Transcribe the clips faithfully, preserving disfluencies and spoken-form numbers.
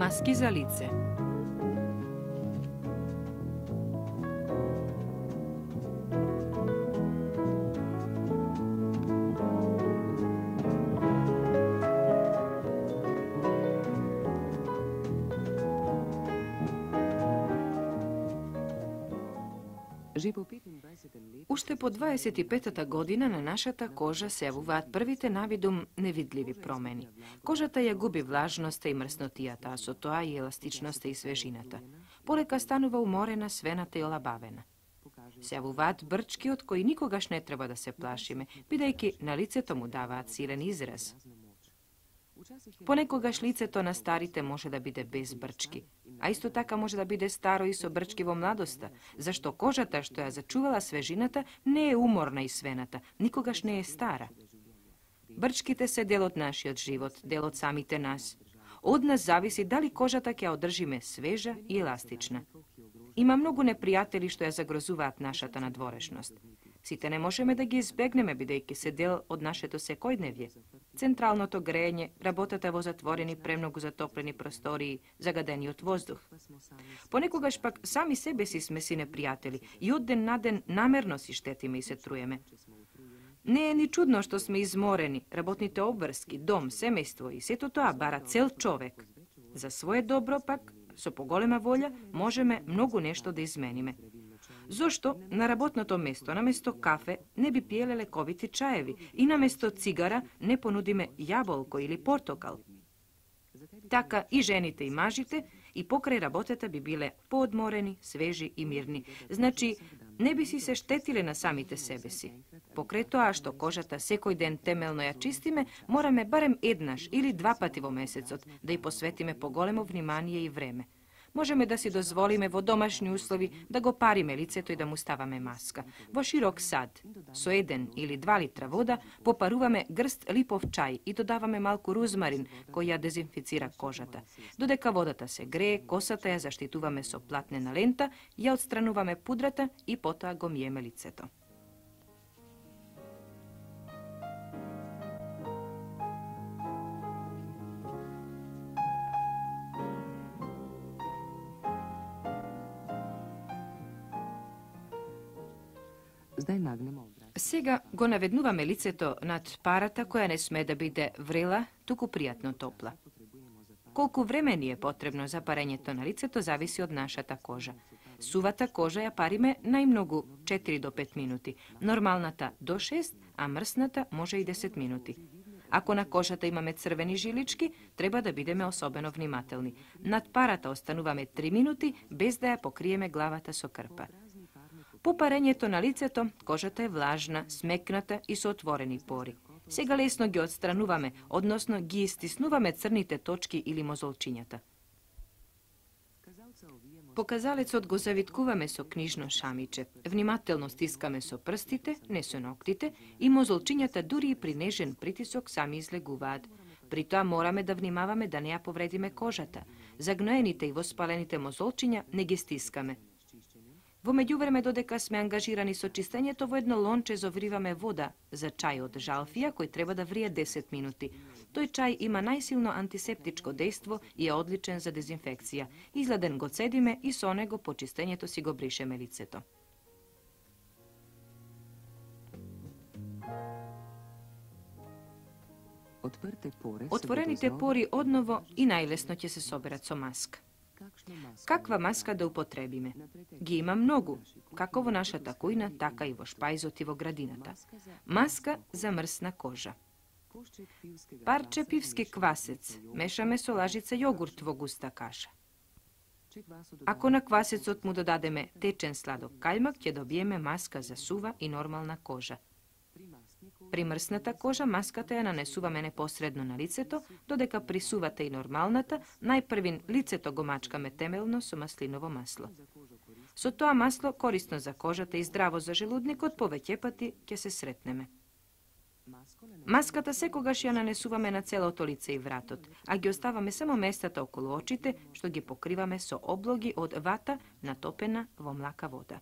Маски за лице. Уште по дваесет и петата година на нашата кожа се јавуваат првите навидум невидливи промени. Кожата ја губи влажноста и мрснотијата, а со тоа и еластичноста и свежината. Полека станува уморена, свената и олабавена. Се јавуваат брчки од кои никогаш не треба да се плашиме, бидејќи на лицето му даваат силен израз. Понекогаш лицето на старите може да биде без брчки, а исто така може да биде старо и со брчки во младоста, зашто кожата што ја зачувала свежината не е уморна и свената, никогаш не е стара. Брчките се дел од нашиот живот, дел од самите нас. Од нас зависи дали кожата ќе ја одржиме свежа и еластична. Има многу непријатели што ја загрозуваат нашата надворешност. Сите не можеме да ги избегнеме, бидејќи се дел од нашето секојдневје. Централното грејење, работата во затворени, премногу затоплени простории, загадениот воздух. Понекогаш пак сами себе си сме си непријатели и од ден на ден намерно си штетиме и се труеме. Не е ни чудно што сме изморени, работните обврски, дом, семејство и сето тоа бара цел човек. За свое добро пак, со поголема волја, можеме многу нешто да измениме. Зошто на работното место, наместо кафе, не би пиеле лековити чаеви и наместо цигара не понудиме јаболко или портокал? Така и жените и мажите и покрај работата би биле поодморени, свежи и мирни. Значи, не би си се штетиле на самите себе си. Покрај тоа што кожата секој ден темелно ја чистиме, мораме барем еднаш или два пати во месецот да ја посветиме поголемо внимание и време. Можеме да си дозволиме во домашни услови да го париме лицето и да му ставаме маска. Во широк сад, со еден или два литра вода, попаруваме грст липов чај и додаваме малку рузмарин кој ја дезинфицира кожата. Додека водата се грее, косата ја заштитуваме со платнена лента, ја отстрануваме пудрата и потоа го миеме лицето. Сега го наведнуваме лицето над парата која не сме да биде врела, туку пријатно топла. Колку време ни е потребно за парењето на лицето зависи од нашата кожа. Сувата кожа ја париме најмногу четири до пет минути, нормалната до шест, а мрсната може и десет минути. Ако на кожата имаме црвени жилички, треба да бидеме особено внимателни. Над парата остануваме три минути без да ја покриеме главата со крпа. По парењето на лицето, кожата е влажна, смекната и со отворени пори. Сега лесно ги отстрануваме, односно ги истиснуваме црните точки или мозолчињата. Показалецот го завиткуваме со книжно шамиче. Внимателно стискаме со прстите, не со ноктите, и мозолчињата дури и при нежен притисок сами излегуваат. При тоа мораме да внимаваме да не ја повредиме кожата. Загноените и воспалените мозолчиња не ги стискаме. Во меѓувреме, додека сме ангажирани со чистењето, во едно лонче зовриваме вода за чај од жалфија кој треба да врие десет минути. Тој чај има најсилно антисептичко дејство и е одличен за дезинфекција. Изладен го цедиме и со него по чистењето си го бришеме лицето. Отворените пори одново и најлесно ќе се соберат со маска. Каква маска да употребиме? Ги има многу, како во нашата кујна, така и во шпајзот и во градината. Маска за мрсна кожа. Парче пивски квасец, мешаме со лажица јогурт во густа каша. Ако на квасецот му додадеме течен сладок кајмак, ќе добиеме маска за сува и нормална кожа. При мрсната кожа маската ја нанесуваме непосредно на лицето, додека при сувата и нормалната, најпрвин лицето го мачкаме темелно со маслиново масло. Со тоа масло, корисно за кожата и здраво за желудникот, повеќе пати ќе се сретнеме. Маската секогаш ја нанесуваме на целото лице и вратот, а ги оставаме само местата околу очите, што ги покриваме со облоги од вата натопена во млака вода.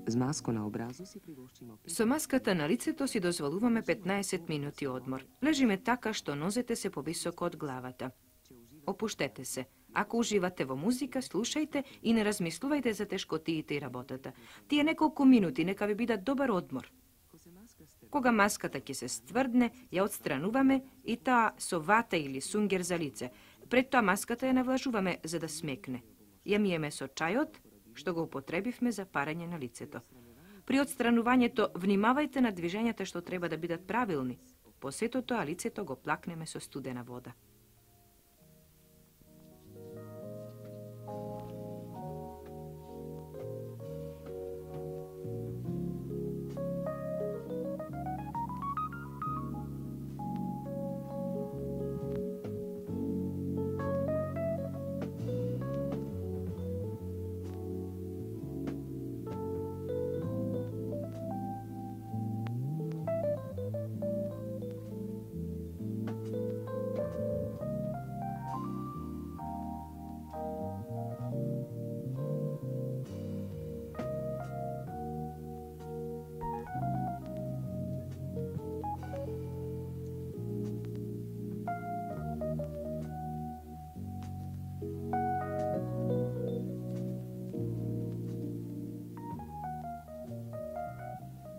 Z masko na obrazu si privoščimo... Со маската на лицето си дозволуваме петнаесет минути одмор. Лежиме така што нозете се повисоко од главата. Опуштете се. Ако уживате во музика, слушајте и не размислувајте за тешкотиите и работата. Тие неколку минути нека ви бидат добар одмор. Кога маската ќе се стврдне, ја отстрануваме и таа со вата или сунгер за лице. Пред тоа маската ја навлажуваме за да смекне. Ја миеме со чајот, што го употребивме за парање на лицето. При отстранувањето внимавајте на движењата што треба да бидат правилни. По сето тоа лицето го плакнеме со студена вода.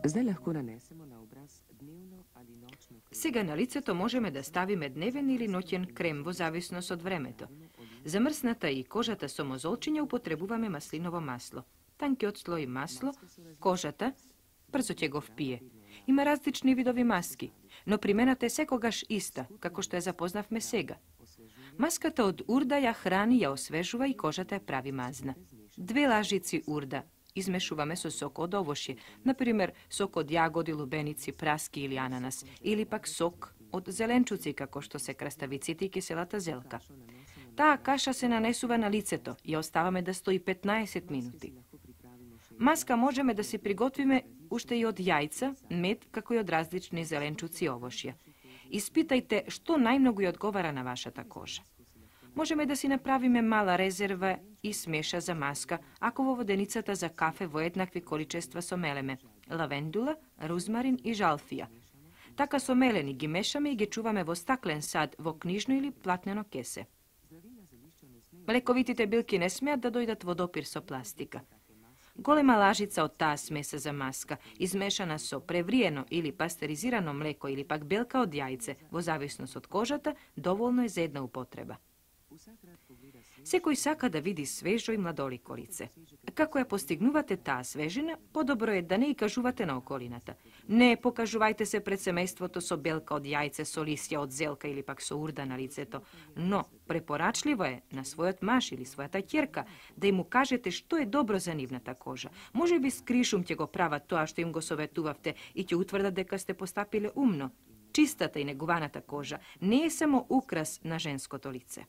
Zdaj lahko nanesemo na obraz dnevno ali nočno krem. Сега на лицето можеме да ставиме дневен или ноќен крем во зависност од времето. За мрсната и кожата со мозолчиња употребуваме маслиново масло. Танкиот слој масло, кожата, брзо ќе го впие. Има различни видови маски, но примената е секогаш иста, како што ја запознавме сега. Маската од урда ја храни, ја освежува и кожата ја прави мазна. Две лажици урда измешуваме со сок од овошје, например сок од јагоди, лубеници, праски или ананас, или пак сок од зеленчуци, како што се краставиците и киселата зелка. Таа каша се нанесува на лицето и ја оставаме да стои петнаесет минути. Маска можеме да се приготвиме уште и од јајца, мед, како и од различни зеленчуци и овошје. Испитајте што најмногу ја одговара на вашата кожа. Можеме да си направиме мала резерва и смеша за маска, ако во воденицата за кафе во еднакви количества со мелеме, лавендула, рузмарин и жалфија. Така со мелени ги мешаме и ги чуваме во стаклен сад, во книжно или платнено кесе. Лековитите билки не смеат да дојдат во допир со пластика. Голема лажица од таа смеса за маска, измешана со превриено или пастеризирано млеко или пак белка од јајце, во зависност од кожата, доволно е за една употреба. Секој сака да види свежо и младолико лице. Како ја постигнувате таа свежина, подобро е да не и кажувате на околината. Не покажувајте се пред семејството со белка од јајце, со лисја од зелка или пак со урда на лицето, но препорачливо е на својот маж или својата ќерка да им му кажете што е добро за нивната кожа. Може би скришум ќе го прават тоа што им го советувавте и ќе утврдат дека сте постапиле умно. Чистата и негуваната кожа не е само украс на женското лице.